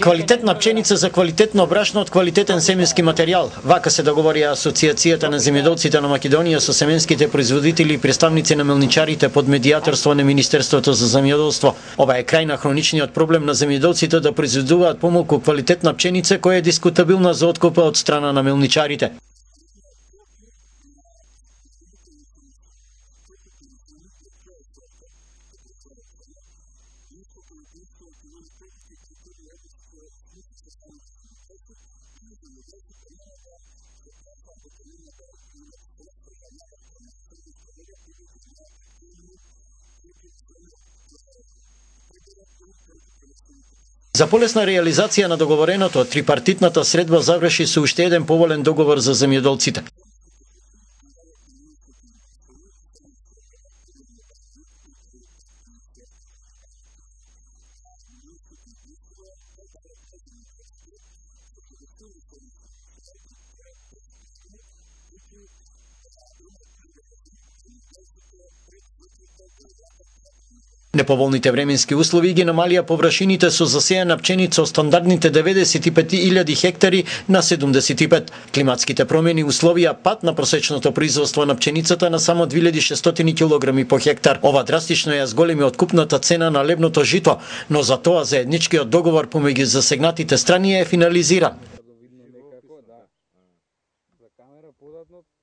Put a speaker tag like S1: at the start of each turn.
S1: Квалитетна пченица за квалитетно брашно од квалитетен семенски материјал. Вака се договори Асоциацијата на земјоделците на Македонија со семенските производители и представници на мелничарите под медијаторство на Министерството за земјоделство. Ова е крај на хроничниот проблем на земјоделците да произведуваат помалку квалитетна пченица која е дискутабилна за откупа од страна на мелничарите. За полесна реализација на договореното, трипартитната средба заврши со уште еден поволен договор за земјоделците. Неповолните временски услови ги намалија површините со засејана пченица од стандардните 95.000 хектари на 75. Климатските промени условија пат на просечното производство на пченицата на само 2600 килограми по хектар. Ова драстично ја зголеми откупната цена на лебното жито, но за тоа заедничкиот договор помеѓу засегнатите страни е финализиран.